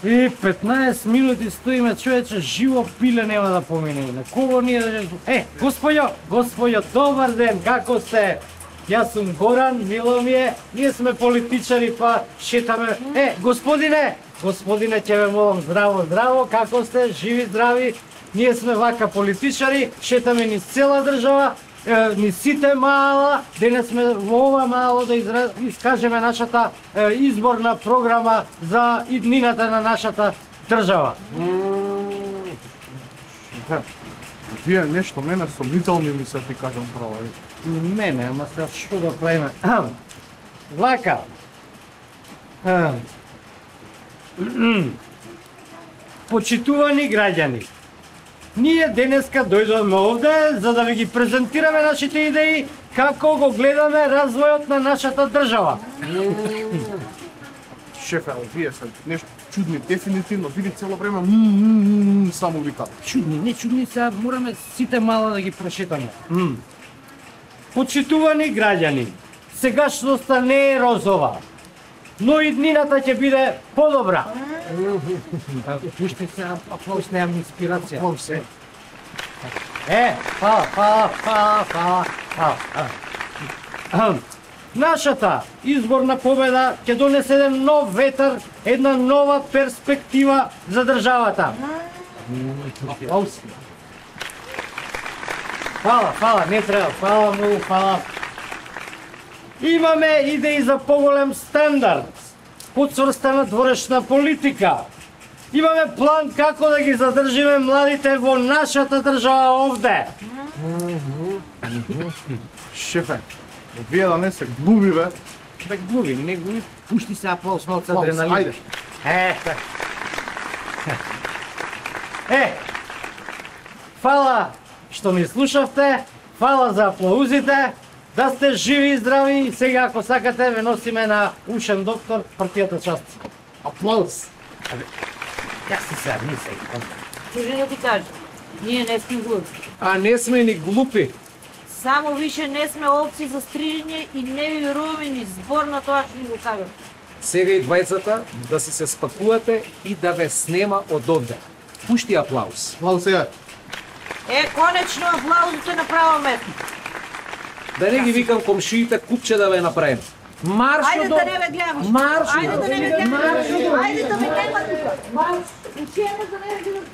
И 15 минути стоиме, човече, живо пиле нема да помине. На кого ние да... Господјо, добар ден, како сте? Јас сум Горан, мило ми е, ние сме политичари, па шетаме. Господине, ќе ве молам, здраво, како сте, живи, здрави? Ние сме вака политичари, шетаме низ цела држава, низ сите мала, денес сме во ова мало да искажеме нашата изборна програма за иднината на нашата држава. Вие нешто мене сомнителни ми се ти кажам право. Мене, ама се што да правиме? Вака. Почитувани граѓани, ние денеска дојдовме овде за да ви ги презентираме нашите идеи како го гледаме развојот на нашата држава. Шефе, вие се нешто чудни, дефинитивно, види цело време само вика. Не чудни, сега мораме сите мала да ги прошетаме. Почитувани граѓани, сегашноста не е розова, но иднината ќе биде подобра. Пушти се, аплауз, немам инспирација. Аплауз се. Фала. Нашата изборна победа ќе донесе еден нов ветар, една нова перспектива за државата. Аплауз. Фала, не треба, фала многу, фала. Имаме идеи за поголем стандард, подцрстана дворешна политика. Имаме план како да ги задржиме младите во нашата држава овде. Шефе, вие да не се глуби, бе. Да глуби, не глуби, пушти се аплауз, малце Аплауз, адреналин. Фала што ми слушавте, фала за аплаузите, да сте живи и здрави и сега ако сакате ве носиме на ушен доктор партијата част. Аплауз. Ја си сега, не сега. Чужи да ти кажа, ние не сме глупи. А не сме ни глупи. Само више не сме овци за стрижење и не ви веруваме ни збор на тоа што ни го кажам. Сега и двајцата да си се спакувате и да ве снема од овде. Пушти аплауз. Аплауз сега. Конечно аплаузот е на право место. Да не ги викам комшиите купче да ве направим. Марш Ајде до... да не ве гледам. Марш Ајде да не ве гледам. Марш Ајде да ме гледам тука. Марш. Учење да не ве гледам.